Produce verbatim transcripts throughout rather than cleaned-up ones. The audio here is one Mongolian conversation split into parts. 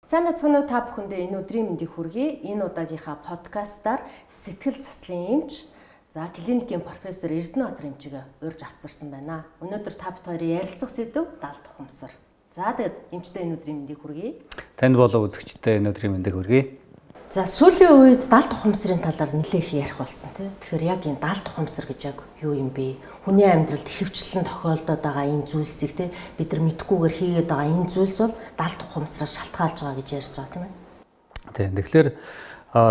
Сайн байцгаана уу та бүхэндээ энэ өдрийн мэндийг хүргэе. Энэ удаагийнхаа подкастаар сэтгэл заслын эмч за клиникийн профессор Эрдэнэбаатар эмчигээ урьж авцарсан байна. Өнөөдөр та бүхэн хоёрын ярилцах сэдэв далд ухамсар. За тэгэд эмчтэй энэ өдрийн мэндийг хүргэе. Танд болоо үзэгчтэй энэ өдрийн мэндийг хүргэе. За сүүлийн үед далд ухамсарын талаар нэлээх ярих болсон тийм. Тэгэхээр яг энэ далд ухамсар гэж яг юу юм бэ? Хүний амьдралд ихэвчлэн тохиолдоод байгаа энэ зүйлсийг тийм бид нар мэдхгүйгээр хийгээд байгаа энэ зүйлс бол далд ухамсараас шалтгаалж байгаа гэж ярьж байгаа тийм ээ. Тийм. Тэгэхээр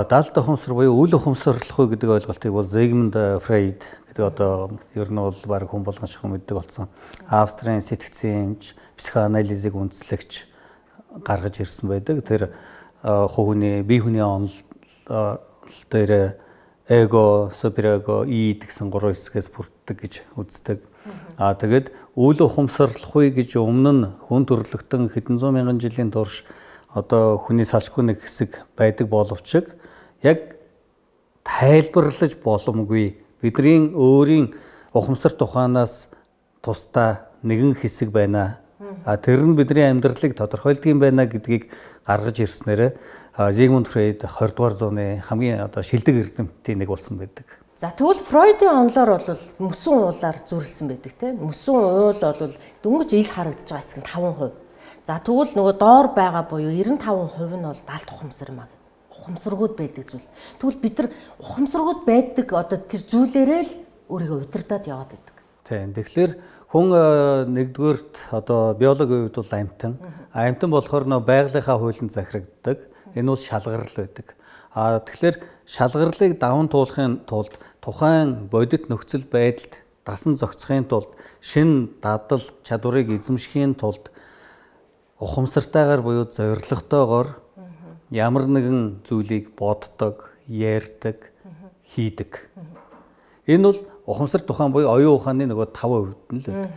далд ухамсар буюу үл ухамсарлахгүй гэдэг ойлголтыг бол Зигмунд Фрейд гэдэг одоо ер нь бол баг хүн болгон шахам мэддэг болсон. Австрийн сэтгцэн эмч, психоанализыг үндэслэгч гаргаж ирсэн байдаг. Тэр хувийн бие хүний онол дээр эго, суперэго, и гэсэн гурван хэсгээс бүрддэг гэж үздэг. Аа тэгээд үл ухамсарлахгүй гэж өмнө нь хүн төрлөختөн хэдэн зуун мянган жилийн турш одоо хүний салшгүй нэг хэсэг байдаг боловч яг тайлбарлаж боломгүй бидний өөрийн ухамсар тухаанаас тусдаа нэгэн хэсэг байна. А тэр нь бидний амьдралыг тодорхойлдог юм байна гэдгийг гаргаж ирснээр Зигмунд Фрейд двадцать дугаар зууны хамгийн одоо шилдэг эрдэмтдийн нэг болсон байдаг. За тэгвэл Фройдын онолоор бол мөсөн уулаар зүрлсэн байдаг тийм. Мөсөн уул бол дөнгөж ил харагдаж байгаа хэсэг нь таван хувь. За тэгвэл нөгөө доор байгаа буюу девяносто таван хувь нь бол далд ухамсар маа. Ухамсаргууд байдаг зүйл. Тэгвэл бид нар ухамсаргууд байдаг одоо тэр зүйлээрээ л өөрийгөө удирдах яваад байдаг. Тийм. Тэгэхээр хүн нэгдүгээрт одоо биологийн хувьд бол амьтан. Амьтан болохоор нөө байгалийнхаа хуулинд захирагддаг. Энэ бол шалгарал байдаг. А тэгэхээр шалгарлыг даван туулахын тулд тухайн бодит нөхцөл байдалд дасан зохицохын тулд шин дадал чадварыг эзэмшихийн тулд ухамсартайгаар буюу зоригтойгоор ямар нэгэн зүйлийг боддог, ярьдаг, хийдэг. Энэ бол ухамсар тухайн буюу оюун ухааны нөгөө таван хувьд нь л байдаг.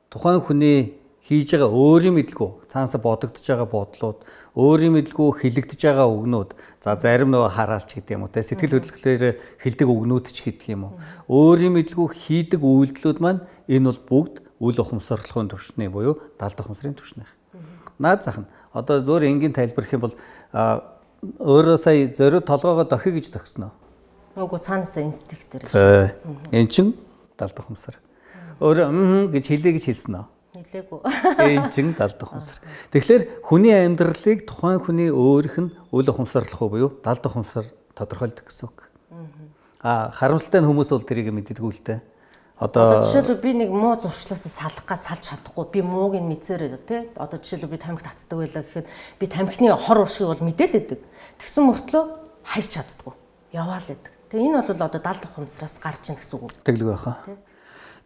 Тухайн хүний хийж байгаа өөрийн мэдлгүй цаанасаа бодогдож байгаа бодлууд, өөрийн мэдлгүй хэлэгдэж байгаа үгнүүд, за зарим нөгөө хараалч гэдэг юм уу, тэ сэтгэл хөдлөлөөр хэлдэг үгнүүд ч гэдэг юм уу. Өөрийн мэдлгүй хийдэг үйлдэлүүд маань энэ бол бүгд үл ухамсарлахын түвшний буюу далд ухамсарын түвшнийх. Наад зах нь одоо зөөр энгийн тайлбарх юм бол өөрөө сая зориуд толгоогоо дохиё гэж төгснө. Нөгөө цаанаасаа инстинктээр. Эн чин далд ухамсар. Өөрөө гэж хэлээ гэж хэлсэн нөө. Хэлээгүй. Эн чин далд ухамсар. Тэгэхээр хүний амьдралыг тухайн хүний өөрийнх нь үл ухамсарлахгүй буюу далд ухамсар тодорхойлдог гэсэн үг. Аа харамсалтай нь хүмүүс бол тэрийг мэддэггүй л дээ. Одоо жишээлбэл би нэг муу зуршлаасаа салах га салж чадахгүй. Би мууг нь мэдсээр байдаг тий. Одоо жишээлбэл би тамхи татдаг байлаа гэхэд би тамхины хор уршиг бол мэдээлэдэг. Тэгсэн мөртлөө хайж чаддаггүй. Яваал байдаг. Тэгээ энэ бол одоо далд ухамсараас гарч ийн гэсэн үг. Тэглэг байхаа.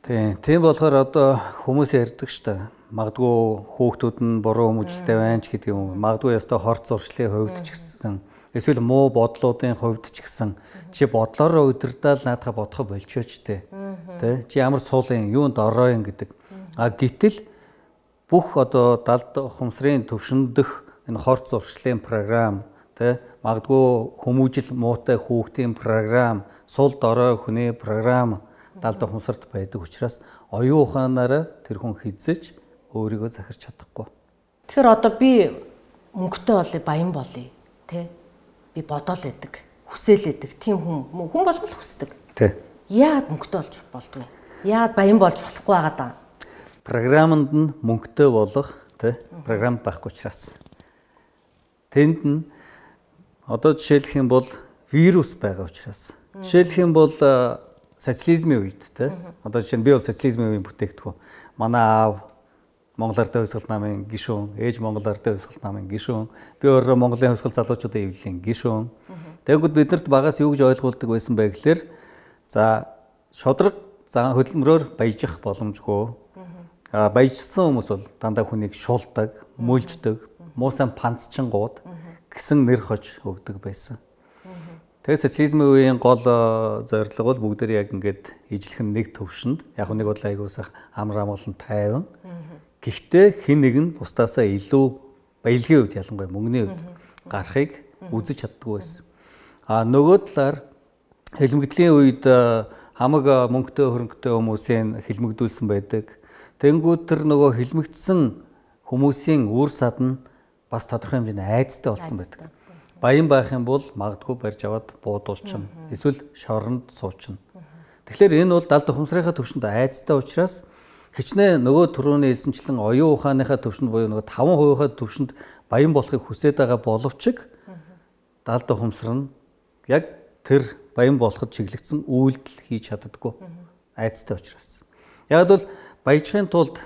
Тийм. Тийм болохоор одоо хүмүүс ярьдаг шүү дээ. Магадгүй хүүхдүүд нь буруу хүмүүжлтэй байна ч гэдэг юм. Магадгүй ястаа хорц зуршлын хувьд ч гэсэн эсвэл муу бодлуудын хувьд ч гэсэн чи бодлороо удирдаал наадхаа бодохо болчихооч тээ. Тэ чи ямар суулын юунд ороо юм гэдэг. А гítэл бүх одоо далд ухамсарын төвшөндөх энэ хорц зуршлын програм тэ магадгүй хүмүүжил муутай хүүхдийн програм, сул дорой хүний програм далд ухамсарт байдаг учраас оюун ухаанаараа тэр хүн хизэж өөрийгөө захирч чадахгүй. Тэгэхээр одоо би мөнгөтэй болъё, баян болъё, тэ? Би бодоол байдаг, хүсээл байдаг. Тийм хүн хүн болгол хүсдэг. Тэ. Яагаад мөнгөтэй болж болдгоо? Яагаад баян болж болохгүй байгаа даа? Программд нь мөнгөтэй болох, тэ? Програм байхгүй учраас. Тэнд нь одоо жишээлх юм бол вирус байгаа учраас. Жишээлх юм бол социализмын үед тий. Одоо жишээ нь би бол социализмын үеийн бүтээгдэхүүн. Манай аав Монгол Ардын хувьсгал намын гишүүн, ээж Монгол Ардын хувьсгал намын гишүүн, би өөрөө Монголын хувьсгал залуучуудын эвлэлийн гишүүн. Тэгэнгүүт биднэрт багаас юу гэж ойлгуулдаг байсан бэ гэхээр за шудраг зан хөдөлмөрөөр баяжих боломжгүй. А баяжсан хүмүүс бол дандаа хүнийг шулдаг, мөлждөг, муусан панцчингууд гэсэн нэр хож өгдөг байсан. Тэгээ социализмын үеийн гол зорилго бол бүгдээр яг ингээд ижлэх нэг төвшөнд яг нэг бодлоо аягуулсах амар амгалан тайван. Гэхдээ хэн нэг нь бусдаасаа илүү баялагын үед ялангуяа мөнгөний үед гарахыг үзэж чаддгүй байсан. А нөгөө талаар хэлмэгдлийн үед хамаг мөнгөтэй хөрөнгөтэй хүмүүсийн хэлмэгдүүлсэн байдаг. Тэнгүүд тэр нөгөө хэлмэгдсэн хүмүүсийн үр сад нь бас тодорхой хэмжээний айцтай болсон байдаг. Баян байх юм бол магадгүй барьж аваад буудуулчихна. Эсвэл шоронд суучна. Тэгэхээр энэ бол далд ухамсарынхаа төвшөнд айцтай учраас хичнээн нөгөө түрүүний хэлсэнчлэн оюун ухааныхаа төвшөнд буюу нөгөө таван хувийнхаа төвшөнд баян болохыг хүсэж байгаа боловч далд ухамсар нь яг тэр баян болоход чиглэгдсэн үйлдэл хийж чаддаггүй. Айцтай учраас. Яг бол баяжхын тулд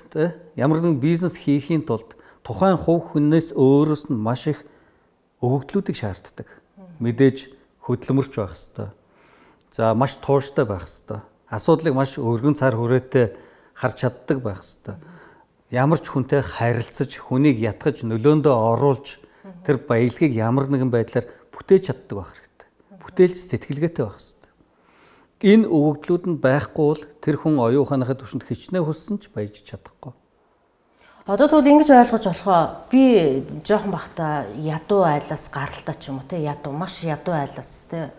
ямар нэгэн бизнес хийхийн тулд тухайн хувь хүнээс өөрөөс нь маш их өгөгдлүүдийг шаарддаг. Мэдээж хөдөлмөрч байх хэвээр. За маш тууштай байх хэвээр. Асуудлыг маш өргөн цар хүрээтэй харж чаддаг байх хэвээр. Ямар ч хүнтэй харилцаж, хүнийг ятгах нөлөөндөө оруулж тэр баялагийг ямар нэгэн байдлаар бүтээж чаддаг байх хэрэгтэй. Бүтээлч сэтгэлгээтэй байх хэвээр. Энэ өгөгдлүүд нь байхгүй бол тэр хүн оюун ухааныхаа төвшөнд хичнээн хүссэн ч баяжж чадахгүй. Одоо тэгвэл ингэж ойлгож болохоо би жоохон бахта ядуу айлаас гаралтай ч юм уу те ядуу маш ядуу айлаас те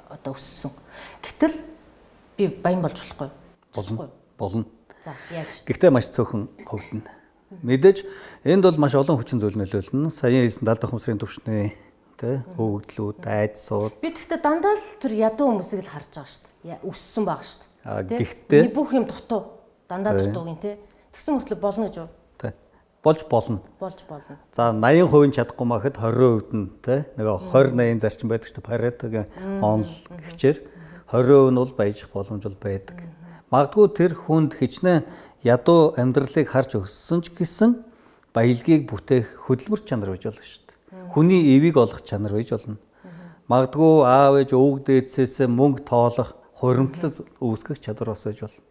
одоо өссөн. Гэтэл би баян болж болохгүй. Болно. Болно. За яаж? Гэхдээ маш цөөхөн хөвдөн. Мэдээж энд бол маш олон хүчин зүйл нөлөөлнө. Саяхан хэлсэн далд ухамсарын төвшний те өгөгдлүүд, айдсууд. Би тэгтээ дандаа л тэр ядуу хүмүүсийг л харж байгаа шүү дээ. Өссөн байгаа шүү дээ. А гэхдээ бүх юм дутуу. Дандаа дутуугийн те. Тэгсэн мөртлөө болно гэж юу? Болж болно. Болж болно. За восемь хувийн чадахгүй махад двадцать хувьд нь тий нөгөө двадцать восемь зарчим байдаг шүү дээ. Паретогийн онл гिचээр двадцать хувь нь бол баяжих боломж бол байдаг. Магадгүй тэр хүнд хичнээн ядуу амьдралыг харж өссөн ч гэсэн баялагийг бүтээх хөдөлмөр чанар байж болно шүү дээ. Хүний эвийг олох чанар байж болно. Магадгүй аав ээж өвөг дээдсээс мөнгө тоолох, хуримтлал үүсгэх чадвар бас байж болно.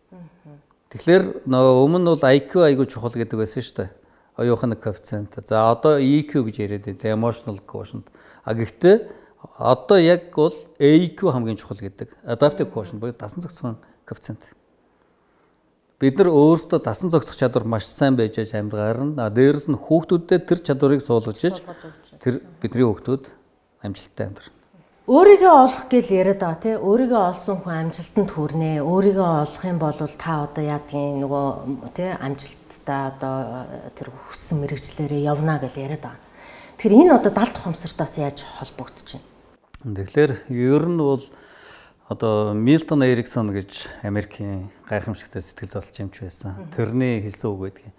Тэгэхээр нөгөө өмнө нь бол ай кью айгуу чухал гэдэг байсан шүү дээ. Оюухны коэффициент. За одоо и кью гэж яриад байдаг. Emotional quotient. А гэхдээ одоо яг бол эй кью хамгийн чухал гэдэг. Adaptive quotient буюу дасан зохицох коэффициент. Бид нар өөрсдөө дасан зохицох чадвар маш сайн байж аж амьдгаар нь дээрээс нь хүүхдүүдэд тэр чадварыг суулгаж иж тэр бидний хүүхдүүд амжилттай амьдрах. Өөрийгөө олох гэж яриад байгаа тий. Өөрийгөө олсон хүн амжилтанд хүрнэ. Өөрийгөө олох юм бол та одоо яадгийн нөгөө тий амжилттай одоо тэр хүссэн мэрэгчлэрээ явна гэж яриад байгаа. Тэгэхээр энэ одоо далд ухамсартаас яаж холбогдож байна? Тэгэхээр ер нь бол одоо Милтон Эриксон гэж Америкийн гайхамшигтай сэтгэл заслж юмч байсан. Тэрний хэлсэн үг байдаг.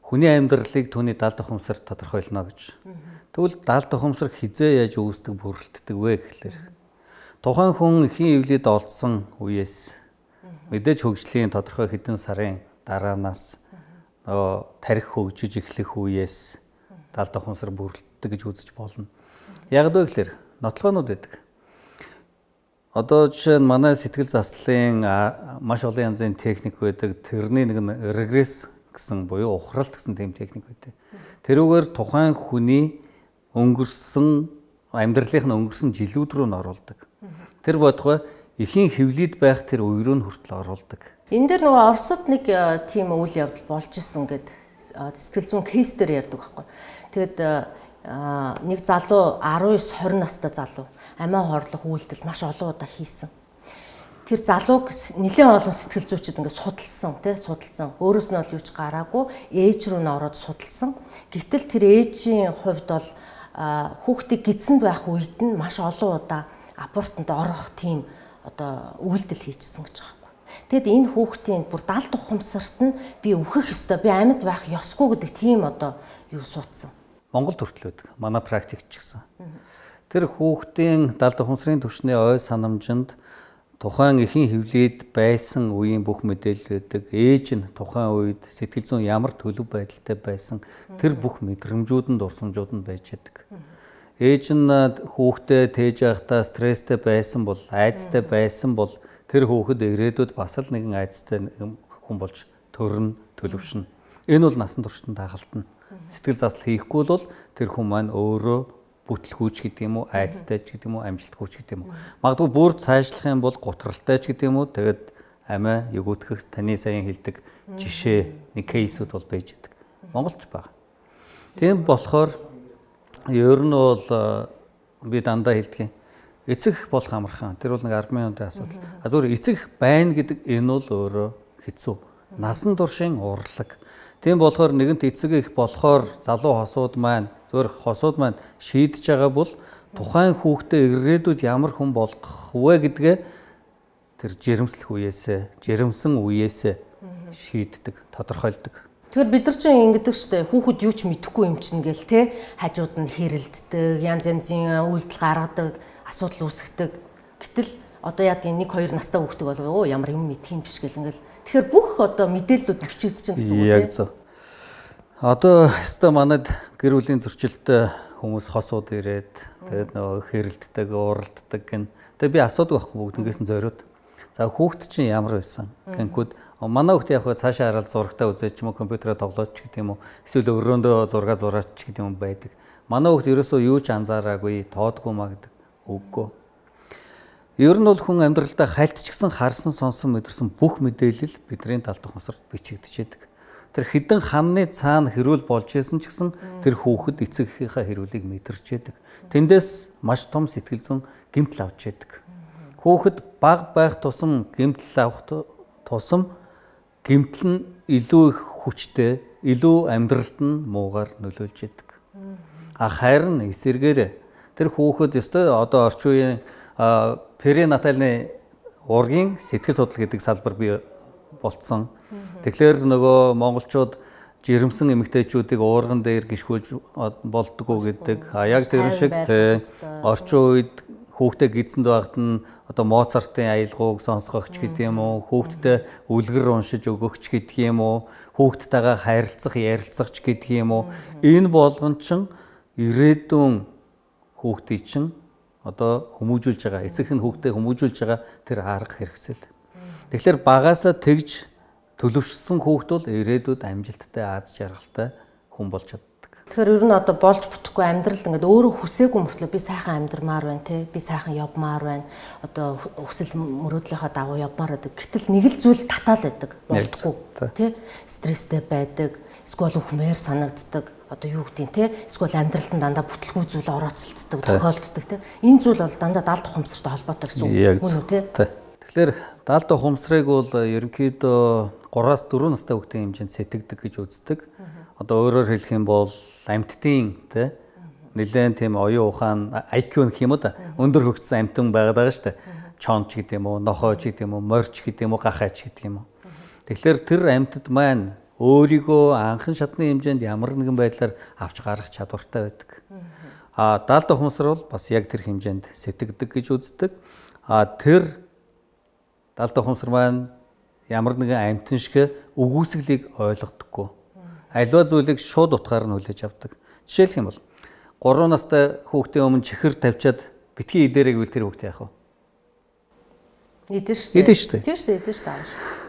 Хүний амьдралыг түүний далд ухамсар тодорхойлно гэж. Тэгвэл далд ухамсар хизээ яаж үүсдэг бүрэлддэг вэ гэхлээр тухайн хүн эхийн эвлийд олдсон үеэс мэдээж хөгжлийн тодорхой хэдэн сарын дараанаас нөгөө тарих хөгжиж эхлэх үеэс далд ухамсар бүрэлддэг гэж үзэж болно. Яг вэ гэхлээр нотлохоонууд байдаг. Одоо жишээ нь манай сэтгэл заслын маш олон янзын техник байдаг. Тэрний нэг нь регресс гэсэн буюу ухралт гэсэн тийм техник байдаг. Тэрүүгээр тухайн хүний өнгөрсөн амьдралынх нь өнгөрсөн жилүүд рүү н оруулдаг. Тэр бодгой эхийн хэвлийд байх тэр үе рүү хүртэл оруулдаг. Энэ дээр нөгөө Оросд нэг тийм үйл явдал болж исэн гэд сэтгэл зүйн кейс дээр ярьдаг байхгүй. Тэгэд нэг залуу десять тwenty настай залуу амиа хорлох үйлдэл маш олон удаа хийсэн. Тэр залууг нэлээд олон сэтгэл зүйчид ингээд судалсан тий судалсан. Өөрөөс нь бол юу ч гараагүй ээж рүү н ороод судалсан. Гэтэл тэр ээжийн хувьд бол хүүхдийг гидсэнд байх үед нь маш олон удаа абортанд орох тийм одоо үйлдэл хийчихсэн гэж байгаа байхгүй. Тэгэд энэ хүүхдийн бүр далд ухамсарт нь би үхэх ёстой, би амьд байх ёсгүй гэдэг тийм одоо юу суудсан. Монгол төртөл байдаг. Манай практикч гэсэн. Тэр хүүхдийн далд ухамсарын түвшний ой санамжинд тухайн эхийн хэвлийд байсан үеийн бүх мэдээлэл байдаг. Ээж нь тухайн үед сэтгэл зүйн ямар төлөв байдалтай байсан тэр бүх мэдрэмжүүд нь дурсамжууд нь байж байдаг. Ээж нь хүүхдээ тээж байхдаа стресстэй байсан бол, айцтай байсан бол тэр хүүхэд ирээдүйд бас л нэгэн айцтай хүн болж төрнө, төлөвшнө. Энэ бол насан туршид дагалдана. Сэтгэл засал хийхгүй бол тэр хүн маань өөрөө бүтлгүүч гэдэг юм уу, айцтай ч гэдэг юм уу, амжилтгүйч гэдэг юм уу. Магадгүй бүр цаашлах юм бол гутралтай ч гэдэг юм уу. Тэгээд амиа ягуутгах таны саяхан хэлдэг жишээ нэг кейсүүд бол байж байдаг. Монголч байгаа. Тийм болохоор ер нь бол би дандаа хэлдэг юм. Эцэг болох амархан. Тэр бол нэг ард минутын асуудал. А зүгээр эцэг байна гэдэг энэ бол өөрөө хэцүү. Насан туршийн урлаг. Тийм болохоор нэгэнт эцэг их болохоор залуу хосууд маань Зөвхөн хосууд маань шийдэж байгаа бол тухайн хүүхдээ ирээдүйд ямар хүн болгох вэ гэдгээ тэр жирэмслэх үеэсээ, жирэмсэн үеэсээ шийддэг, тодорхойлдог. Тэгэхээр бид нар ч ингэдэг штэ хүүхэд юу ч мэдэхгүй юм чинь гээл те хажууд нь хэрэлддэг, янз янзын үйлдэл гаргадаг, асуудал үүсгдэг. Гэтэл одоо яадгийн нэг хоёр настай хүүхдээ болов оо ямар юм мэдх юм биш гэл ингээл. Тэгэхээр бүх одоо мэдээллүүд бичигдэж байгаа гэсэн үг тийм. Яг зөв. Одоо өстой манайд гэр бүлийн зөрчилтэй хүмүүс хосууд ирээд тэгээд нөгөө хэрэлддэг, уралддаг гэн. Тэгээд би асуудаг байхгүй бүгднгээс нь зориуд. За хүүхд чинь ямар байсан? Гэнхүүд манай хүүхд яг цаашаа хараад зурагтаа үзээд ч юм уу компьютероо тоглоод ч гэдэг юм уу эсвэл өрөөндөө зураг зураач ч гэдэг юм байдаг. Манай хүүхд ерөөсөө юу ч анзаараагүй, тоодгүй маа гэдэг. Үгүй. Ер нь бол хүн амьдралдаа хальтчгсан, харсан, сонсон, мэдэрсэн бүх мэдээлэл бидний талд ухамсарт бичигдчихэд. Тэр хідэн ханны цаана хэрүүл болж исэн ч гэсэн тэр хүүхэд эцэг эхийнхээ хэрүүлийг мэдэрч яадаг. Тэндээс маш том сэтгэл зүйн гэмтэл авч яадаг. Хүүхэд бага байх тусам гэмтэл авах тусам гэмтэл нь илүү их хүчтэй, илүү амьдралд нь муугаар нөлөөлж яадаг. А харин эсэргээр тэр хүүхэд ёстой одоо орчин үеийн перинатальны ургийн сэтгэл судлал гэдэг салбар бий болцсон. Тэгэхээр нөгөө монголчууд жирэмсэн эмэгтэйчүүдийг уурган дээр гიშгүүлж болдгоо гэдэг. А яг тэр шиг орчин үед хүүхдээ гидсэнд байхад нь одоо Моцартын аялгауг сонсгохч гэдэг юм уу, хүүхдтэй үлгэр уншиж өгөхч гэдэг юм уу, хүүхдтэйгээ харилцах, ярилцах ч гэдэг юм уу. Энэ болгон чинь ирээдүйн хүүхдийн чинь одоо хүмүүжүүлж байгаа, эцэг нь хүүхдээ хүмүүжүүлж байгаа тэр арга хэрэгсэл. Тэгэхээр багаасаа тэгж төлөвшсөн хүүхд бол ирээдүйд амжилттай, аз жаргалтай хүн болж чаддаг. Тэгэхээр ер нь одоо болж бүтэхгүй амьдрал ингээд өөрөө хүсээгүй мөртлөө би сайхан амьдрмаар байна те, би сайхан явмаар байна. Одоо хүсэл мөрөөдлийнхаа дагуу явмаар байдаг. Гэтэл нэг л зүйл татаал байдаг, болдгоо те. Стресстэй байдаг, эсвэл үхмээр санагддаг. Одоо юу гэдгийг те, эсвэл амьдралд нь дандаа бүтлгүй зүйл орооцолцдог, тохиолддог те. Энэ зүйл бол дандаа далд ухамсартай холбоотой гэсэн үг мөн үү те. Тэгэхээр далд ухамсарыг бол ерөнхийдөө гураас дөрвөн настай хүүхдийн хэмжээнд сэтгэдэг гэж үздэг. Одоо өөрөөр хэлэх юм бол амьтдын те нэлээд тийм оюун ухаан ай кью гэх юм уу да өндөр хөгжсөн амьтан байгаад байгаа шүү дээ. Чонч гэдэг юм уу, нохойч гэдэг юм уу, морч гэдэг юм уу, гахайч гэдэг юм уу. Тэгэхээр тэр амьтад маань өөрийгөө анхан шатны хэмжээнд ямар нэгэн байдлаар авч гарах чадвартай байдаг. А далд ухамсар бол бас яг тэр хэмжээнд сэтгэдэг гэж үздэг. А тэр далд ухамсар маань ямар нэгэн амьтан шиг өгөөсгөлийг ойлгодоггүй. Аливаа зүйлийг шууд утгаар нь хүлээж авдаг. Жишээлх юм бол гурван настай хүүхдийн өмнө чихэр тавьчаад битгий идэрэг үл тэр хүүхдээ яах вэ? Идэн шүү дээ. Идэн шүү дээ. Тийм шүү дээ, идэн шүү дээ.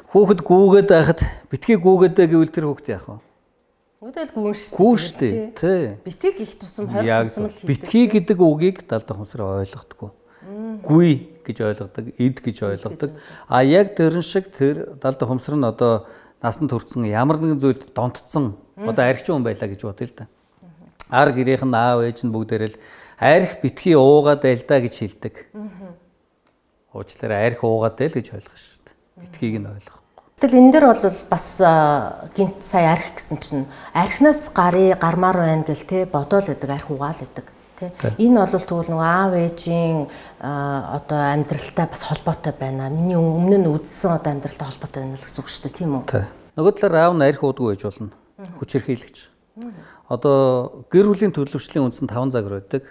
Хүүхэд гүүгээд байхад битгий гүүгээд гэвэл тэр хүүхдээ яах вэ? Үдэл гүүн шүү дээ. Гүүн шүү дээ. Тий. Битгий гих тусам хорь тусам л хийдэг. Битгий гэдэг үгийг далд ухамсар ойлгодоггүй. Гүй гэж ойлгодог, ид гэж ойлгодог. А яг тэрэн шиг тэр далд ухамсар нь одоо насанд хүрсэн ямар нэгэн зүйлд донтцсон одоо архичин хүн байлаа гэж бодъё л да. Ар гэрийнх нь аав ээж нь бүгдээрээ л арх битгий уугаад байл да гэж хэлдэг. Уучлаарай арх уугаад байл гэж ойлгох шүү дээ. Битгийг нь ойлгохгүй. Тэгэл энэ дээр бол бас гинт сая арх гэсэн чинь архинаас гарыг гармаар байна гэл те бодоол байдаг, арх угаал байдаг. Энэ бол тэгвэл нөгөө аав ээжийн одоо амьдралтай бас холбоотой байна. Миний өмнө нь үзсэн одоо амьдралтай холбоотой байна л гэсэн үг шүү дээ, тийм үү? Нөгөө талаар аав нь арх уудгүй байж болно. Хүчирхийлэгч. Одоо гэр бүлийн төлөвшлийн үндс нь таван загвар байдаг.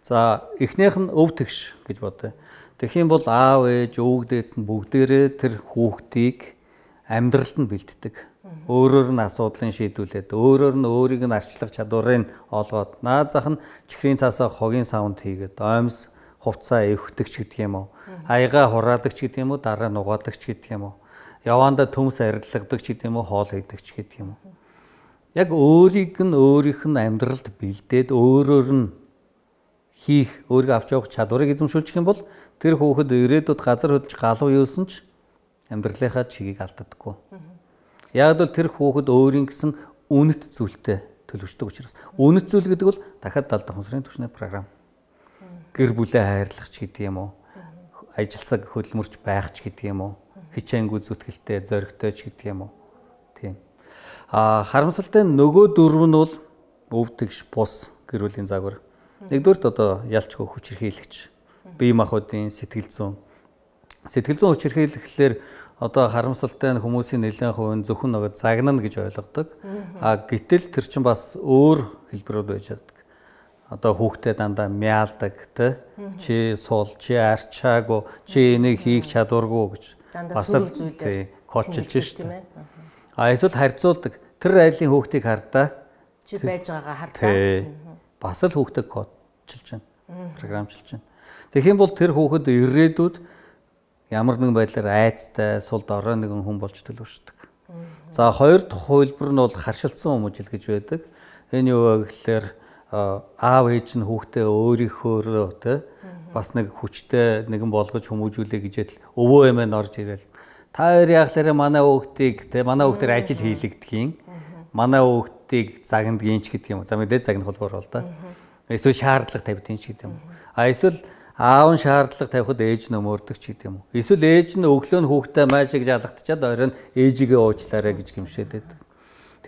За эхнийх нь өв тэгш гэж бодъё. Тэгэх юм бол аав ээж, өвөг дээдс нь бүгдээрээ тэр хүүхдийг амьдралд нь бэлддэг. Өөрөөр нь асуудлын шийдвүлээд, өөрөөр нь өөрийг нь арчлах чадварыг олгоод, наад зах нь чихрийн цаасаа хогийн савнд хийгээд, оймс хувцаа эвхдэг ч гэдэг юм уу, аяга хураадаг ч гэдэг юм уу, дараа нь угаадаг ч гэдэг юм уу, явандаа төмс арилгадаг ч гэдэг юм уу, хоол хийдэг ч гэдэг юм уу. Яг өөрийг нь өөрийнх нь амьдралд бэлдээд, өөрөөр нь хийх, өөрийгөө авч явах чадварыг эзэмшүүлчих юм бол тэр хүүхэд ирээдүйд газар хөдлөж галуу юусэн ч амьдралынхаа чигийг алддаггүй. Яг л тэр хүүхэд өөрийн гэсэн үнэт зүйлтэй төлөвшдөг учраас. Үнэт зүйл гэдэг бол дахиад далд ухамсарын түвшний програм. Гэр бүлээ хайрлах ч гэдэг юм уу, ажилсаг хөдөлмөрч байх ч гэдэг юм уу, хичээнгүй зүтгэлтэй, зоригтой ч гэдэг юм уу. Тийм. А харамсалтай нөгөө дөрөв нь бол өвдөгч бус гэр бүлийн загвар. Нэгдүгürt одоо ялчгүй хүчирхийлэгч. Бие махбодын сэтгэл зүйн. Сэтгэл зүйн хүчирхийлэхлээр одоо харамсалтай нь хүмүүсийн нэлээд хувь зөвхөн нөгөө загнана гэж ойлгодог. А гэтэл тэр чинь бас өөр хэлбэрүүд байж чаддаг. Одоо хүүхдээ дандаа мяалдаг тэ чи суул чи арчаагүй чи энийг хийх чадваргүй гэж бас л коучилж штэ. А эсвэл харьцуулдаг. Тэр айлын хүүхдийг хардаа чи байж байгаагаа хардаа. Бас л хүүхдээ коучилж байна. Програмчилж байна. Тэгэх юм бол тэр хүүхэд ирээдүйд ямар нэгэн байдлаар айцтай сул дорой нэгэн хүн болж төлөвшдөг. За хоёр дахь хувилбар нь бол харшилсан хүмүүжил гэж байдаг. Энэ юу вэ гэхээр аав ээж нь хүүхдээ өөрийнхөө тэ бас нэг хүчтэй нэгэн болгож хүмүүжүүлээ гэжэл өвөө эмээ орж ирэл та хоёр яахлаараа манай хүүхдийг тэ манай хүүхдээр ажил хийлэгдэхийн манай хүүхдийг загнадгийн ч гэдэг юм. За мэдээ загнах холбоор бол да. Эсвэл шаардлага тавьдгийн ч гэдэг юм. А эсвэл аав нь шаардлага тавихад ээж нь өмөрдөг ч гэдэг юм. Эсвэл ээж нь өглөө нь хүүхдээ маашиг жалгатчаад оройн ээжигээ уучлаарай гэж гимшээд байдаг.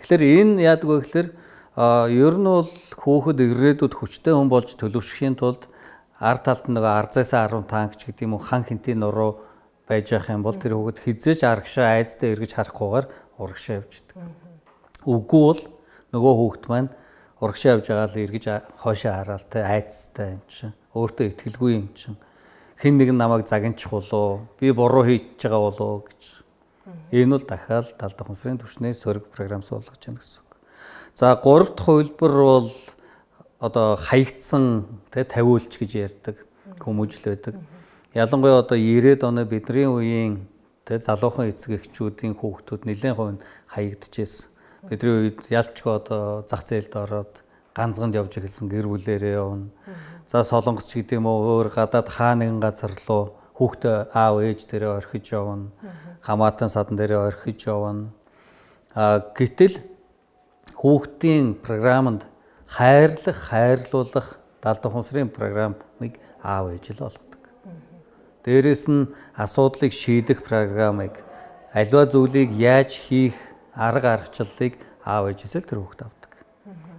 Тэгэхээр энэ яадаг вэ гэхээр А ер нь бол хүүхэд ирээдүйд хүчтэй хүн болж төлөвшөхийн тулд ард талд нэг арзаасаа арван танкч гэдэг юм уу хан хинтийн нуруу байж явах юм бол тэр хүүхэд хизээж аргашаа айцтай эргэж харахгүйгээр урагшаа явждаг. Үгүй бол нөгөө хүүхэд маань урагшаа явж байгаа л эргэж хоошоо хараал те айцтай юм чинь өөртөө ихтгэлгүй юм чинь хэн нэг нь намайг загинчих болоо би буруу хийж байгаа болоо гэж энэ бол дахиад тал давхамсрын түвшнээс сөрөг програм суулгаж байна гэсэн. За гурав дахь хувилбар бол одоо хаягдсан тэ тавиулч гэж ярьдаг хүмүүжил байдаг. Ялангуяа одоо ирээд оны бидний үеийн тэ залуухан эцэг эхчүүдийн хүүхдүүд нэлээд хувь хаягдчихсэн. Бидний үед ялчгүй одоо зах зээлд ороод ганцганд явж эхэлсэн гэр бүлээрээ явна. За солонгос ч гэдэг юм уу өөр гадаад хаа нэгэн газар руу хүүхдээ аав ээж дээрээ орхиж явна. Хамаатан садан дээрээ орхиж явна. А гэтэл хүүхдийн програмд хайрлах, хайрлуулах далд ухамсарын програмыг аав ээж л болгодог. Дээрээс нь асуудлыг шийдэх програмыг аливаа зүйлийг яаж хийх арга аргачлалыг аав ээжээс л тэр хүүхд авдаг.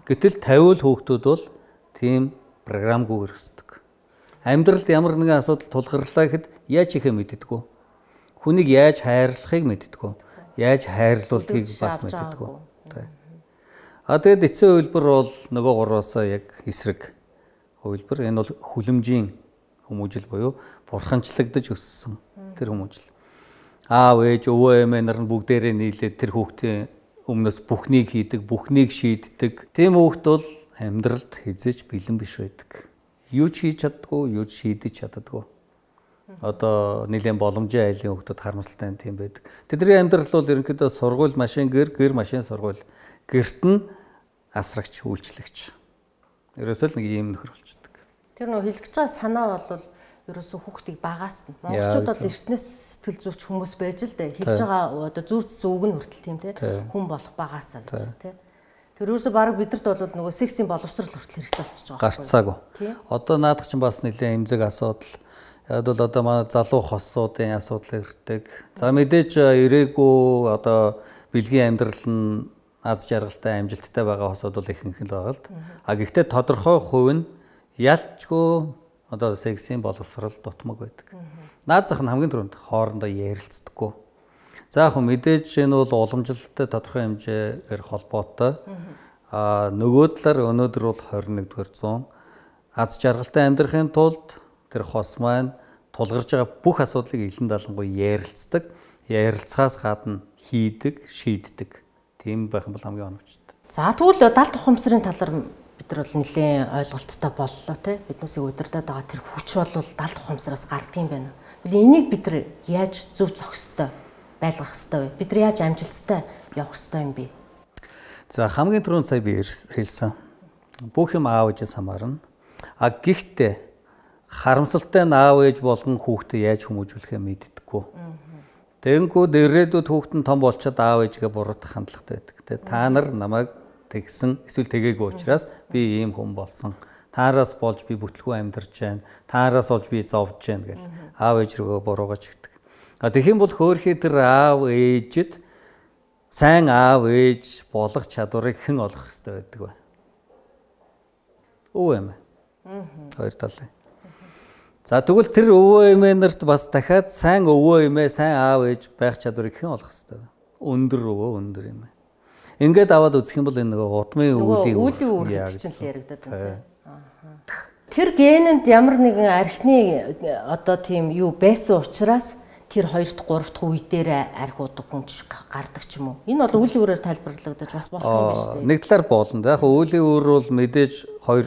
Гэтэл тавиул хүүхдүүд бол тийм програмгүйгээр өсдөг. Амьдралд ямар нэгэн асуудал тулгарлаа гэхэд яаж хийхээ мэддэггүй. Хүнийг яаж хайрлахыг мэддэггүй. Яаж хайрлуулахыг бас мэддэггүй. А тэгэд эцсийн хувилбар бол нөгөө гурваасаа яг эсрэг хувилбар. Энэ бол хүлэмжийн хүмүүжил буюу бурханчлагдаж өссөн тэр хүмүүжил. Аав ээж өвөө эмээ нар нь бүгдээрээ нийлээд тэр хүүхдийн өмнөөс бүхнийг хийдэг, бүхнийг шийддэг. Тийм хүүхд бол амьдралд хизээч бэлэн биш байдаг. Юу ч хийж чаддгүй, юу ч шийдэж чаддгүй. Одоо нэлийн боломжийн айлын хүүхдүүд харамсалтай тийм байдаг. Тэдний амьдрал бол ерөнхийдөө сургууль, машин, гэр, гэр, машин, сургууль. Гэрт нь асрагч, үйлчлэгч. Ерөөсөө л нэг ийм нөхөр болчихдог. Тэр нөө хэлгэж байгаа санаа бол ерөөсөө хүүхдийг багаас нь монголчууд бол эртнээс сэтгэл зүйч хүмүүс байж л дээ. Хэлж байгаа одоо зүрц зүг нь хүртэл тийм те хүн болох багаасаа гэж те. Тэр ерөөсөө баг бидэрт бол нөгөө сексийн боловсрал хүртэл хэрэгтэй болчихж байгаа. Гарцаагүй. Одоо наадах чинь бас нэлээд эмзэг асуудал. Яг бол одоо манай залуу хосуудын асуудал ирдэг. За мэдээж ирээгүй одоо бэлгийн амьдрал нь аз жаргалтай амжилттай байгаа хосууд бол ихэнх нь байгаа л. А гэхдээ тодорхой хувь нь ялчгүй одоо сексийн боловсрал дутмаг байдаг. Наад зах нь хамгийн түрүүнд хоорондоо ярилцдаггүй. За яг мэдээж энэ бол уламжлалтай тодорхой хэмжээгээр холбоотой. А нөгөө талаар өнөөдөр бол хорин нэгдүгээр зуун аз жаргалтай амьдрахын тулд тэр хос маань тулгарч байгаа бүх асуудлыг илэн далангуй ярилцдаг. Ярилцахаас гадна хийдэг, шийддэг. Тийм байх юм бол хамгийн оновчтой. За тэгвэл далд ухамсарын талаар бид нар бол нэлээд ойлголттой боллоо тий. Биднээсээ удирдах байгаа тэр хүч бол далд ухамсараас гардаг юм байна. Энийг бид нар яаж зөв зохистой байлгах ёстой вэ? Бид нар яаж амжилттай явах ёстой юм бэ? За хамгийн түрүүнд сая би хэлсэн. Бүх юм аав ээжээс хамаарна. А гэхдээ харамсалтай нь аав ээж болгон хүүхдээ яаж хүмүүжүүлэхээ мэддэггүй. Тэгэнгүүт ирээдүйд хүүхэд нь том болчиход аав ээжгээ буруутгах хандлагатай байдаг. Тэ та нар намайг тэгсэн эсвэл тэгээгүй учраас би ийм хүн болсон. Таараас болж би бүтлгүй амьдарч байна. Таараас болж би зовж байна гэл аав ээж рүүгээ буруугаж игдэг. А тэгэх юм бол хөөхий тэр аав ээжэд сайн аав ээж болох чадварыг хэн олох хэрэгтэй байдаг вэ? өвөө эмээ. Хоёр талын. За тэгвэл тэр өвөө эмээ нарт бас дахиад сайн өвөө эмээ, сайн аав ээж байх чадварыг хэн олох хэвээр байна. Өндөр өвөө, өндөр эмээ. Ингээд аваад үзэх юм бол энэ нөгөө удмын үеийн үеийн үр чинь л яригадаад байна. Тэр генэнд ямар нэгэн архины одоо тийм юу байсан учраас тэр хоёр дахь, гурав дахь үе дээр архи удаг хүн гардаг ч юм уу. Энэ бол үеийн үрээр тайлбарлагдаж бас болох юм байна шүү дээ. Нэг талаар болно. Яг үеийн үр бол мэдээж хоёр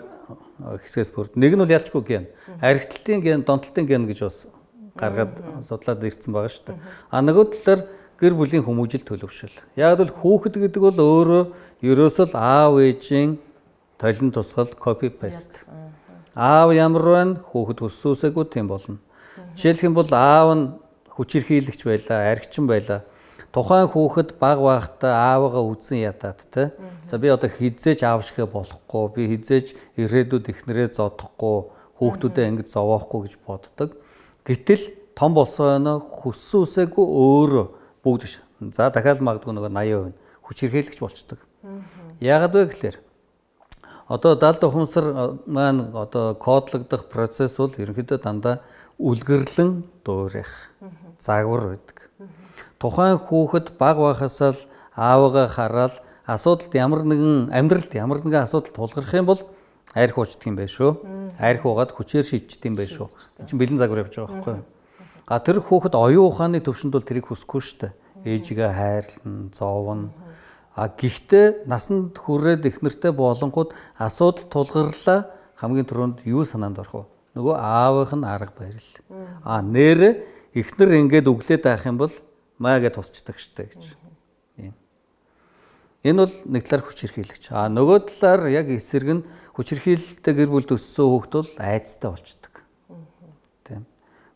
хэсгээс бүрд. Нэг нь бол ялчгүй ген. Архитектийн ген, донтолтын ген гэж бас гаргаад судлаад ирсэн байгаа шүү дээ. А нөгөө талаар гэр бүлийн хүмүүжил төлөвшил. Яг бол хүүхэд гэдэг бол өөрөө ерөөсөө аав ээжийн толин тусгал copy paste. Аав ямар байна, хүүхэд өссөөсөөгүй тийм болно. Жишээлх юм бол аав нь хүчирхийлэгч байлаа, архичин байлаа. Тухайн хүүхэд баг байхдаа аавыгаа үзэн ядаад те. За би одоо хизээж аав шигэ болохгүй, би хизээж ирээдүйд ихнэрээ зодохгүй, хүүхдүүдээ ингэж зовоохгүй гэж боддог. Гэтэл том болсоо хүссүүсээгүй өөрөө бүгд биш. За дахиад магадгүй нөгөө восемь хувь хүчирхийлэгч болчдөг. Яагаад вэ гэхээр одоо даалд ухамсар маань одоо кодлогдох процесс бол ерөнхийдөө дандаа үлгэрлэн дуурайх, загвар байдаг. Тухайн хүүхэд баг байхасаа л аавыгаа хараад асуудалд ямар нэгэн амьдралд ямар нэгэн асуудал тулгарх юм бол арх уучдаг юм байна шүү. Арх уугаад хүчээр шийдчих юм байна шүү. Энд чинь бэлэн загвар явж байгаа байхгүй юу? А тэр хүүхэд оюун ухааны төвшөнд бол тэрийг хүсэхгүй шүү дээ. Ээжигээ хайрлна, зовно. А гэхдээ насанд хүрээд эхнэртэй болонгууд асуудал тулгарлаа хамгийн түрүүнд юу санаанд орох вэ? Нөгөө аавынх нь арга барил. А нэр эхнэр ингээд өглөөд авах юм бол маягаа тусчдаг штэ гэж. Тийм. Энэ бол нэг талаар хүчирхийлэгч. А нөгөө талаар яг эсрэг нь хүчирхийлэлтэй гэр бүлд өссөн хүүхэд бол айцтай болчдөг. Тийм.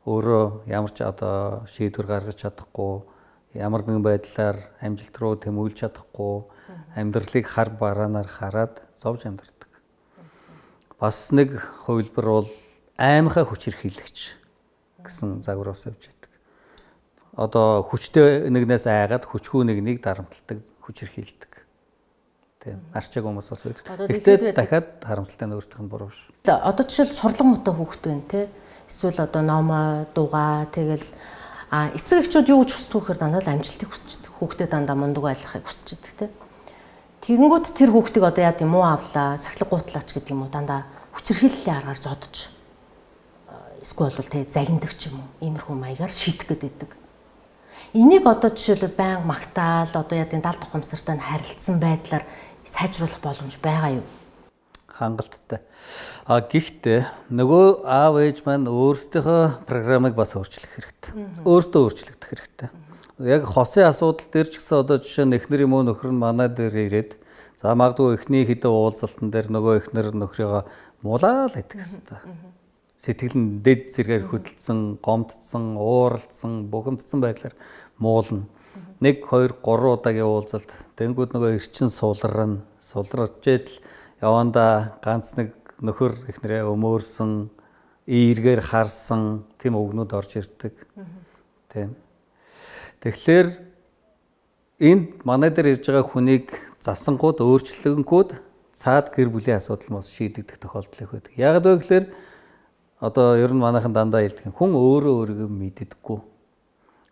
Өөрөө ямар ч одоо шийдвэр гаргаж чадахгүй, ямар нэгэн байдлаар амжилт руу тэмүүлж чадахгүй, амьдралыг хар бараанаар хараад зовж амьдардаг. Бас нэг хувилбар бол аймхаа хүчирхийлэгч гэсэн загвараас явж байдаг. Одоо хүчтэй нэгнээс айгаад хүчгүй нэгнийг дарамталдаг, хүчирхийлдэг. Тийм. Арчааг хүмүүс бас байдаг. Гэхдээ дахиад харамсалтай нь өөрсдөх нь буруу ш. Одоо жишээл сурлан муутай хүүхэд байна те. Эсвэл одоо номоо, дугаа тэгэл а эцэг эхчүүд юу гэж хүсдэг вэ гэхээр дандаа л амжилтыг хүсчихдээ. Хүүхдээ дандаа мундаг байлгахыг хүсчихдээ те. Тэгэнгүүт тэр хүүхдийг одоо яа гэм үү авлаа, сахилга гуутлаач гэдэг юм уу дандаа хүчирхийллийн аргаар зодож эсвэл бол те загиндаг ч юм уу иймэрхүү маягаар шийдэх гэдэг. Энийг одоо жишээлбэл байнга магтаал одоо яа гэм далд ухамсартай нь харилцсан байдлаар сайжруулах боломж байгаа юу? Хангалттай. А гэхдээ нөгөө аав ээж маань өөрсдийнхөө программыг бас өөрчлөх хэрэгтэй. Өөртөө өөрчлөгдөх хэрэгтэй. Яг хосын асуудал дээр ч гэсэн одоо жишээ нь эхнэр юм уу нөхөр нь манай дээр ирээд за магадгүй эхний хэдэн уулзалтан дээр нөгөө эхнэр нөхрийгөө муулаад идэх хэрэгтэй. Сэтгэл нь дэд зэргээр хөдөлсөн, гомдсон, ууралдсан, бухимдсан байдлаар муулна. Нэг, хоёр, гурван удаагийн уулзалт тэнгууд нөгөө эрчин сулран, сулраж идэл яванда ганц нэг нөхөр эхнэрээ өмөөрсөн, эргээр харсан тийм өгнүүд орж ирдэг. Тийм. Тэгэхээр энд манай дээр ирж байгаа хүнийг засангууд өөрчлөнгүүд цаад гэр бүлийн асуудал бас шийдэгдэх тохиолдол их байдаг. Яг л гэхээр одоо ер нь манайхан дандаа хэлдэг хүн өөрөө өөрийгөө мэддэггүй.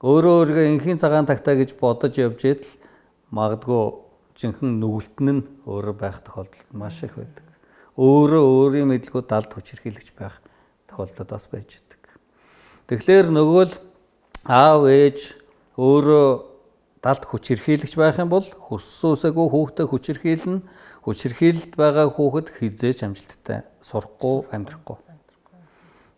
Өөрөө өөрийгөө инхийн цагаан тагтаа гэж бодож явж идэл магадгүй жинхэнэ нүгэлтэн нь өөрөө байх тохиолдол маш их байдаг. Өөрөө өөрийн мэдлгүүд далд хүчирхийлэгч байх тохиолдол бас байж байдаг. Тэгэхээр нөгөө л аав ээж өөрөө далд хүчирхийлэгч байх юм бол хүссөөсөөгөө хүүхдээ хүчирхийлнэ. Хүчирхийлэлд байгаа хүүхэд хизээж амжилттай сурахгүй, амьдрахгүй.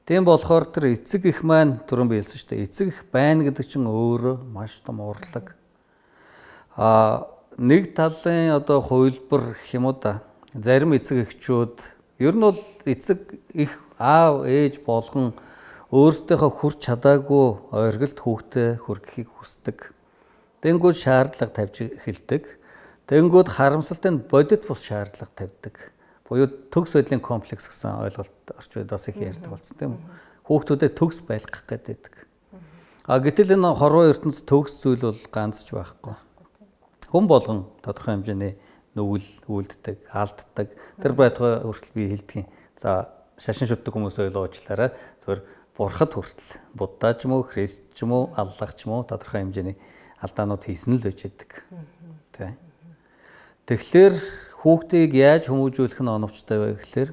Тийм болохоор тэр эцэг их маань түрүүн биелсэн шүү дээ. Эцэг их байна гэдэг чинь өөрөө маш том урлаг. А нэг талын одоо хувилбар гэх юм уу да. Зарим эцэг эхчүүд ер нь бол эцэг их аав ээж болгон өөрсдийнхөө хүрч чадаагүй оргилд хүүхдээ хүргэхийг хүсдэг. Тэнгүүд шаардлага тавьж эхэлдэг. Тэнгүүд харамсалтай нь бодит бус шаардлага тавьдаг. Буюу төгс байдлын комплекс гэсэн ойлголт орчууд бас их ярьдаг болсон тийм үү. Хүүхдүүдэд төгс байлгах гэдэг. А гэтэл энэ хорвоо ертөнц төгс зүйл бол ганц ч байхгүй. Хүн болгон тодорхой хэмжээний нүгэл үлддэг, алддаг. Тэр байтугай хүртэл би хэлдэг юм. За шашин шүтдэг хүмүүс ойлгоочлаарай. Зөвхөн бурхад хүртэл Будда ч юм уу, Христ ч юм уу, Аллах ч юм уу тодорхой хэмжээний алдаанууд хийсэн л байж байдаг. Тэ. Тэгэхээр хүүхдийг яаж хүмүүжүүлэх нь оновчтой вэ гэхээр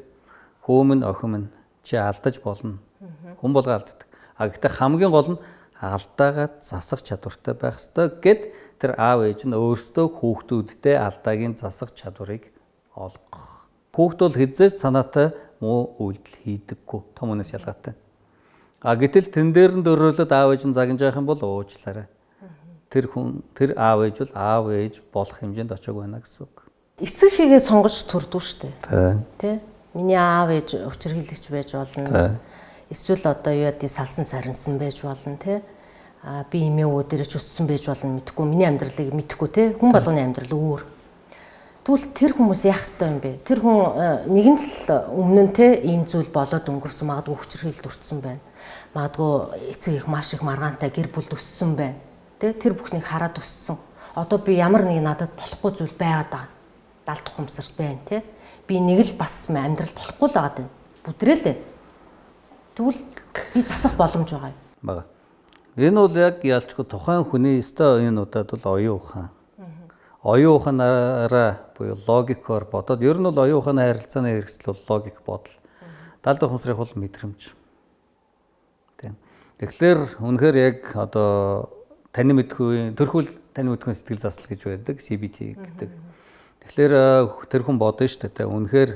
хөөмн охин минь чи алдаж болно. Хүн болго алддаг. А гэхдээ хамгийн гол нь алдаагаа засах чадвартай байх ёстой гэд тэр аав ээж нь өөрсдөө хүүхдүүдтэй алдаагийн засах чадварыг олгох. Хүүхд бол хэзээ ч санаатай муу үйлдэл хийдэггүй. Том хүнээс ялгаатай. А гэтэл тэн дээр нь дөрөөлөд аав ээж нь загнаж явах юм бол уучлаарай. Тэр хүн тэр аав ээж бол аав ээж болох хэмжээнд очиог байна гэсэн үг. Эцэг хийгээ сонгож төрдөө штэ. Тэ. Тэ? Миний аав ээж учирхийлэгч байж болно. Эсвэл одоо юу яа салсан сарнсан байж болно, тэ? А би эмээ өвөө дээрч өссөн байж болно мэдхгүй. Миний амьдралыг мэдхгүй, тэ? Хүн болгоны амьдрал өөр. Тэгвэл тэр хүмүүс яах ёстой юм бэ? Тэр хүн нэгэн л өмнө нь тэ энэ зүйл болоод өнгөрсөн, магадгүй хүчирхийлэлд өртсөн байна. Магадгүй эцэг их маш их маргаантай гэр бүл төссөн байна. Тэ? Тэр бүхнийг хараад өссөн. Одоо би ямар нэг надад болохгүй зүйл байгаад байгаа. Далд тухамсарт байна, тэ? Би нэг л бас амьдрал болохгүй л байгаа юм. Бүдрээлээ. Тэгвэл би засах боломж байгаа юм. Бага. Энэ бол яг ялчгүй тухайн хүний өстой энэ удаад бол оюун ухаан. Оюун ухаанаараа буюу логикоор бодоод ер нь бол оюун ухааны харилцааны хэрэгсэл бол логик бодол. Далд ухамсарах бол мэдрэмж. Тийм. Тэгэхээр үнэхээр яг одоо таны мэдхгүй төрхүүл таны мэдхгүй сэтгэл засал гэж байдаг си би ти гэдэг. Тэгэхээр тэр хүн бодно шүү дээ. Үнэхээр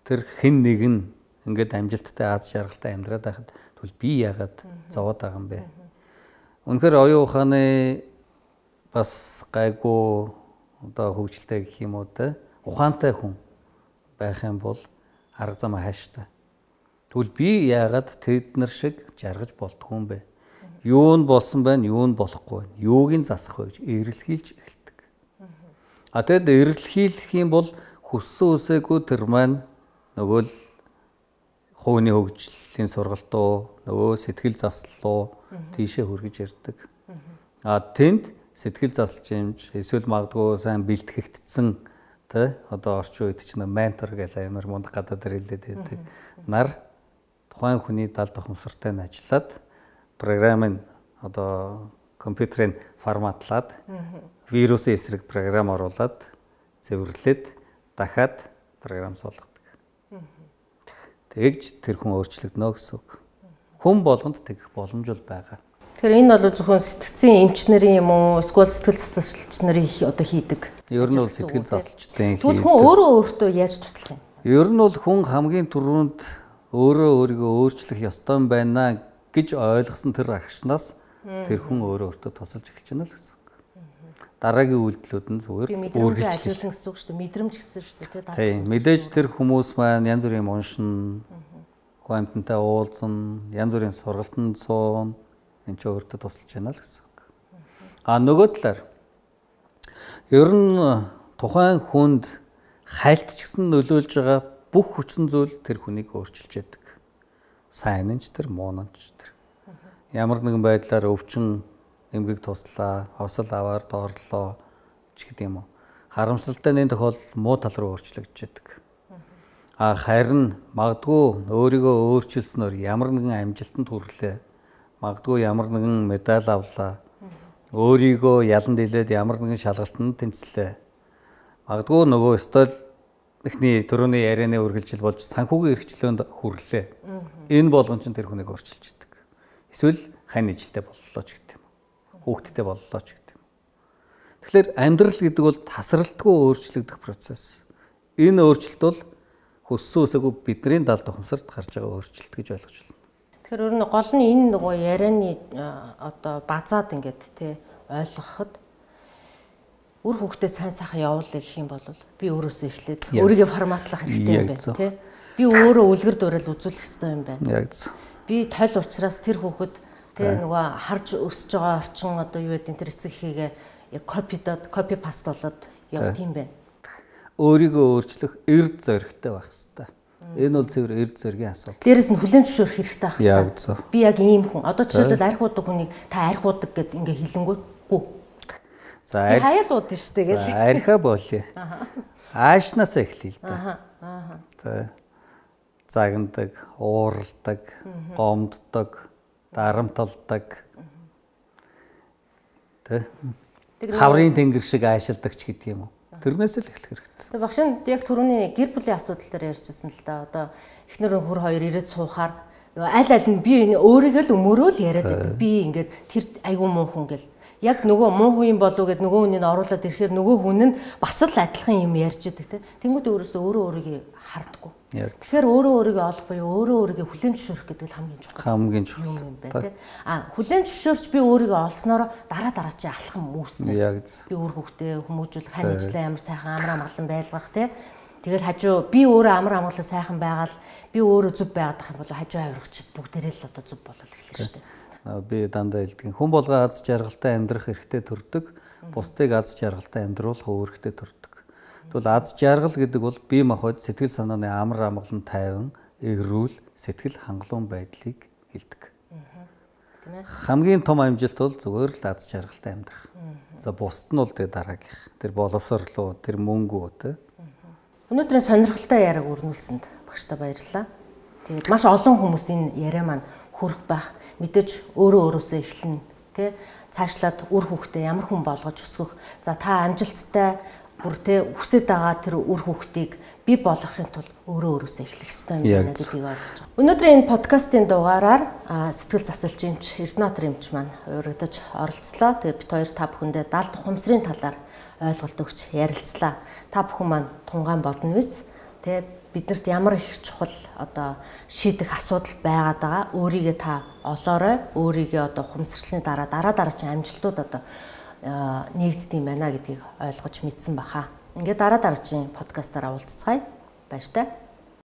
тэр хэн нэг нь ингээд амжилттай аз жаргалтай амьдраад байхад тэгвэл би яагаад зовоод байгаа юм бэ? Үнэхээр оюун ухааны бас гайгүй одоо хөгжилтэй гэх юм уу те ухаантай хүн байх юм бол арга замаа хайштай. Тэгвэл би яагаад тэднэр шиг жаргаж болдгоо юм бэ? Юу нь болсон байна, юу нь болохгүй байна. Юуг нь засах вэ гэж эрэлхийлж эхэлдэг. А тэгэд эрэлхийлэх юм бол хүссэн үсээгүй тэр маань нөгөө л хувийн хөгжлийн сургалтуу, нөгөө сэтгэл заслуу тийшээ хүргэж ирдэг. А тэнд сэтгэл заслчимж эсвэл магадгүй сайн бэлтгэгдсэн тэ одоо орчин үед чинь ментор гэх амар мундаг гадаад хэлээд байдаг. Нар тухайн хүний далд ухамсартай нь ажиллаад програмын одоо компьютерын форматлаад вирусын эсрэг програм оруулаад цэвэрлээд дахиад програм суулгадаг. Тэгж тэр хүн өөрчлөгдөнө гэсэн үг. Хүн болгонд тэгэх боломж бол байгаа. Тэгэхээр энэ бол зөвхөн сэтгцийн эмч нарын юм уу, эсвэл сэтгэл засалч нарын одоо хийдэг. Ер нь бол сэтгэл засалчдын хийдэг. Тэгвэл хүн өөрөө өөртөө яаж туслах юм? Ер нь бол хүн хамгийн түрүүнд өөрөө өөрийгөө өөрчлөх ёстой юм байна гэж ойлгосон тэр агшнаас тэр хүн өөрөө өөртөө тусалж эхэлж байна л гэсэн үг. Дараагийн үйлдэлүүд нь зүгээр үргэлжлүүлэн гэсэн үг шүү дээ. Мэдрэмж гэсэн шүү дээ. Тийм. Мэдээж тэр хүмүүс маань янз бүрийн уншин, гомтонтой уулзсан, янз бүрийн сургалтанд суун энэ ч өөртөө тусалж байна л гэсэн үг. А нөгөө талаар ер нь тухайн хүнд хайлт ч гэсэн нөлөөлж байгаа бүх хүчин зүйл тэр хүнийг өөрчилж яадаг. Сайн нь ч тэр, муу нь ч тэр. Ямар нэгэн байдлаар өвчин эмгэг туслаа, хосол аваар доорлоо ч гэдэг юм уу. Харамсалтай нэг тохиолдолд муу тал руу өөрчлөгдөж яадаг. А харин магадгүй өөрийгөө өөрчилснөөр ямар нэгэн амжилтанд хүрлээ. Магадгүй ямар нэгэн медаль авлаа. Өөрийгөө ялан дийлээд ямар нэгэн шалгалтанд тэнцлээ. Магадгүй нөгөө стол эхний төрөний ярианы үргэлжил болж санхүүгийн эрхчлөөнд хүрлээ. Энэ болгон ч тэр хүнийг өөрчилж яадаг. Эсвэл хань ижтэй боллоо ч гэдэг юм. Хүүхдтэй боллоо ч гэдэг юм. Тэгэхээр амьдрал гэдэг бол тасралтгүй өөрчлөгдөх процесс. Энэ өөрчлөлт бол хүссэн үсээгүй бидний далд ухамсарт гарч байгаа өөрчлөлт гэж ойлгож байна. Тэгэхээр өөр нь гол нь энэ нөгөө ярианы одоо базаад ингээд тий ойлгоход үр хүүхдээ сайн сайхан явуулъя гэх юм бол би өөрөөсөө эхлээд өөрийгөө форматлах хэрэгтэй юм байна тий. Би өөрөө үлгэр дуурайл үзүүлэх хэрэгтэй юм байна. Яг зөв. Би тойл учраас тэр хүүхэд тий нөгөө харж өсөж байгаа орчин одоо юу гэдэг тэр эцэг хийгээ яг копидод копи паст болоод явт юм байна. Өөрийгөө өөрчлөх эрд зоригтой байх хэрэгтэй. Энэ бол зөвхөн эрд зоригийн асуудал. Дээрээс нь хүлэмж зөвшөөрөх хэрэгтэй байх. Яг зөв. Би яг ийм хүн. Одоо жишээлбэл арх удаг хүнийг та арх удаг гэд ингээ хэлэнгүүтгүй. За хайлууд нь шүү дээ. За архиа болъё. Аашнаас эхлэе л да. Аха. Аха. Тэ загнадаг, ууралдаг, гомддог, дарамталдаг. Тэ хаврын тэнгэр шиг аашилдаг ч гэдэг юм уу. Тэрнээс л эхлэх хэрэгтэй. Тэгээ багшин яг түрүүний гэр бүлийн асуудал дээр ярьжсэн л да. Одоо эхнэр хөр хоёр ирээд суухаар аль аль нь би өөрийгөө л өмөрөө л яриад байдаг. Би ингээд тэр айгүй муу хүн гэл. Яг нөгөө муу хүн болов гэд нөгөө хүнийг оруулаад ирэхээр нөгөө хүн нь бас л адилхан юм ярьж идэг те. Тэнгүүд өөрөөсөө өөрөө өөрийгөө хардггүй. Тэгэхээр өөрөө өөрийгөө олох буюу өөрөө өөрийгөө хүлээн зөвшөөрөх гэдэг л хамгийн чухал. Хамгийн чухал юм байна те. А хүлээн зөвшөөрч би өөрийгөө олсноор дараа дараа чи алхам үүснэ. Яг би өөр хөвгтөө хүмүүжүүлэх ханижлаа ямар сайхан амар амгалан байлгах те. Тэгэл хажуу би өөрөө амар амгалан сайхан байгаал би өөрөө зүв байгаад ах юм бол хажуу авиргач бүгдээрээ л одоо зүв болол эхэлнэ шүү дээ. Би дандаа хэлдэг. Хүн болгоо аз жаргалтай амьдрах эрхтэй төрдөг, бусдыг аз жаргалтай амьдруулах үүрэгтэй төрдөг. Тэгвэл аз жаргал гэдэг бол бие махбод сэтгэл санааны амар амгалан тайван, эрүүл, сэтгэл хангалуун байдлыг хэлдэг. Хамгийн том амжилт бол зүгээр л аз жаргалтай амьдрах. За бусд нь бол тэгээ дараагийнх. Тэр боловсролоо, тэр мөнгөө тэ. Өнөөдрийн сонирхолтой яриаг өрнүүлсэнд багштай баярлалаа. Тэгээд маш олон хүмүүс энэ яриа маань хүрэх байх. Мэдээж өөрөө өөрөөсөө эхлэн тий цаашлаад үр хүүхдээ ямар хүн болгож өсгөх. За та амжилттай бүр тий хүсэж байгаа тэр үр хүүхдийг бий болгохын тулд өөрөө өөрөөсөө эхлэх ёстой юм байна гэдгийг ойлгож байгаа. Өнөөдрийн энэ подкастын дугаараар сэтгэл засалчинч Эрдэнэт Римч маань урагдаж оролцлоо. Тэгээд бид хоёр та бүхэндээ далд ухамсарын талаар ойлголт өгч ярилцлаа. Та бүхэн маань тунгаан бодно биз? Тэ биднэрт ямар их чухал одоо шийдэх асуудал байгаад байгаа. Өөрийгөө та олоорой. Өөрийгөө одоо ухамсарласны дараа дараа дараагийн амжилтууд одоо нэгддэг юм байна гэдгийг ойлгож мэдсэн баха. Ингээд дараа дараагийн подкастаараа уулзцгаая. Баяр таа.